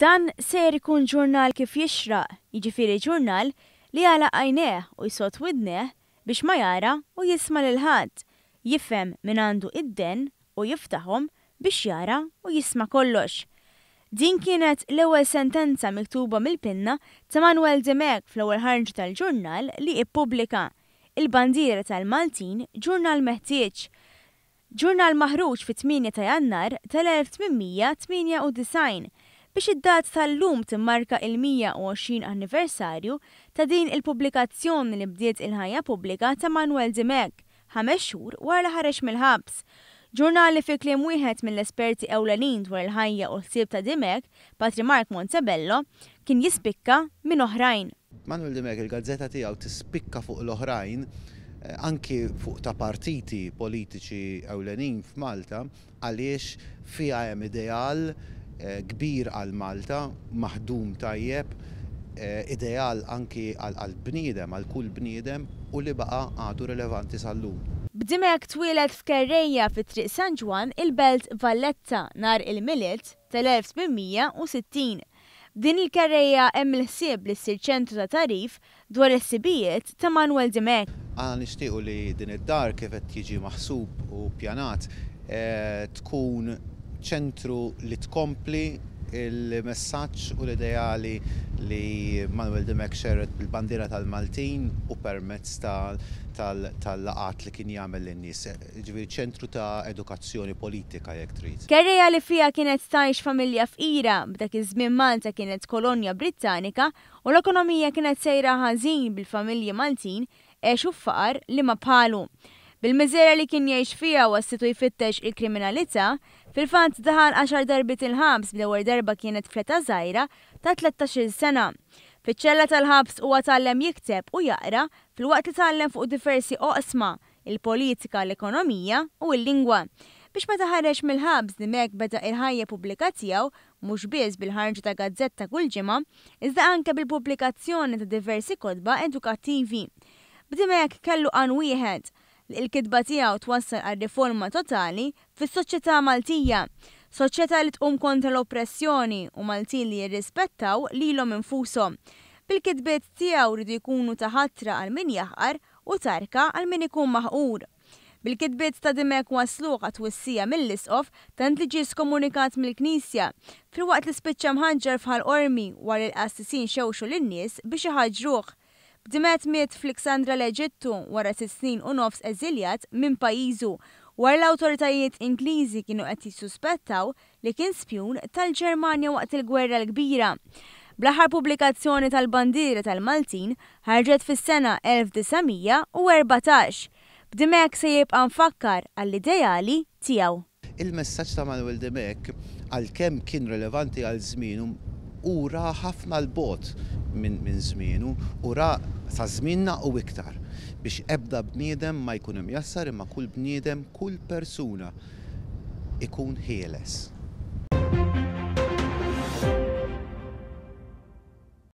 Dan sejjer ikun ġurnal kif jixraq, jiġifieri ġurnal li jagħlaq għajnejh u jsodd widnejh biex ma jara u jisma' lil ħadd, jifhem min għandu id-dehen u jiftaħhom biex jara u jisma' kollox. Din kienet l-ewwel sentenza miktuba mill-pinna ta' Manwel Dimech fl-ewwel ħarġa tal-ġurnal li ippubblika, Il-Bandiera tal-Maltin, ġurnal meħtieġ. Ġurnal maħruġ fit-8 ta' Jannar tal-1898 biex id-data tal-lum timmarka il-120 anniversarju ta' din il-pubblikazzjoni li bdiet il-ħajja pubblika ta' Manwel Dimech ħames xhur wara li ħareġ mill-ħabs. Ġurnal li fi kliem wieħed mill-esperti ewlenin dwar il-ħajja u l-ħsieb ta' Dimech, Patri Mark Montebello, kien jispikka minn oħrajn. Manuel Dimech il-gazzetta tiegħu tispikka fuq l-oħrajn, anki fuq ta' partiti politiċi ewlenin f'Malta, għaliex fiha hemm ideal kbir għal Malta, maħdum tajjeb, ideal anki għall-bniedem, għal kull bniedem, u li baqa' għadu rilevanti sal-lum. B'Dimech twieled f'Kerrejja fi Triq San Ġwann, il-Belt Valletta, nhar il-Milied tal-1860. B'din il-kerrejja hemm il-ħsieb li ssir ċentru ta' tagħrif dwar il-ħsibijiet ta' Manwel Dimech. Aħna nixtiequ li din id-dar kif qed jiġi maħsub u ppjanat tkun ċentru li tkompli l-messaġġ u l-ideali li Manwel Dimech xerred bil-bandiera tal-Maltin u permezz tal-laqgħat li kien jagħmel lin-nies. Jiġifieri ċentru ta' edukazzjoni politika jekk trid. Kerrejja li fiha kienet tgħix familja fqira, b'dak iż-żmien Malta kienet kolonja Brittanika u l-ekonomija kienet sejra ħażin bil-familji Maltin għexu f'faqar li ma bħalu. Bil-miżerja li kien jgħix fiha wasslitu jfittex il-kriminalità, fil-fatt daħal għaxar darbiet il-ħabs bl-ewwel darba kienet fl-età żgħira ta' tlettax-il sena. Fiċ-ċella tal-ħabs huwa tgħallem jikteb u jaqra filwaqt li tgħallem fuq diversi oqsma, il-politika, l-ekonomija u l-lingwa. Biex meta ħareġ mill-ħabs Dimech beda il-ħajja pubblika tiegħu mhux biss bil-ħarġa ta' gazzetta kull ġimgħa, iżda anke bil-pubblikazzjoni ta' diversi kotba edukattivi. B'Dimech kellu għan wieħed, li l-kitba tiegħu twassal għal riforma totali fis-soċjetà Maltija, soċjetà li tqum kontra l-oppressjoni u Maltin li jirrispettaw lilhom infushom. Bil-kitbiet tiegħu riedu jkunu ta' ħatra għal min jaħqar u tarka għal min ikun maħqur. Bil-kitbiet ta' Dimech wassluh għat-twissija mill-Isqof tant li ġie skomunikat mill-Knisja, filwaqt li spiċċa mħaġġar f'Ħal Qormi wara li l-qassisin xewxu lin-nies biex iħaġġruh. B'Dimet miet f'Liksandra l-Eġittu wara sitt snin u nofs eżiljat minn pajjiżu wara l-awtoritajiet Ingliżi kienu qed jissuspettaw li kien spjun tal-Ġermanja waqt il-Gwerra l-Kbira. Bl-aħħar pubblikazzjoni tal-Bandiera tal-Maltin ħarġet fis-sena 1914. B'Dimech se jibqa' mfakkar għall-ideali tiegħu. Il-messaġġ ta' Manuel Dimech, għalkemm kien relevanti għal żmienu, hu ra ħafna 'l bogħod minn żmienu u ra sa żmienna u iktar, biex ebda bniedem ma jkun imjassar imma kull bniedem, kull persuna ikun ħieles.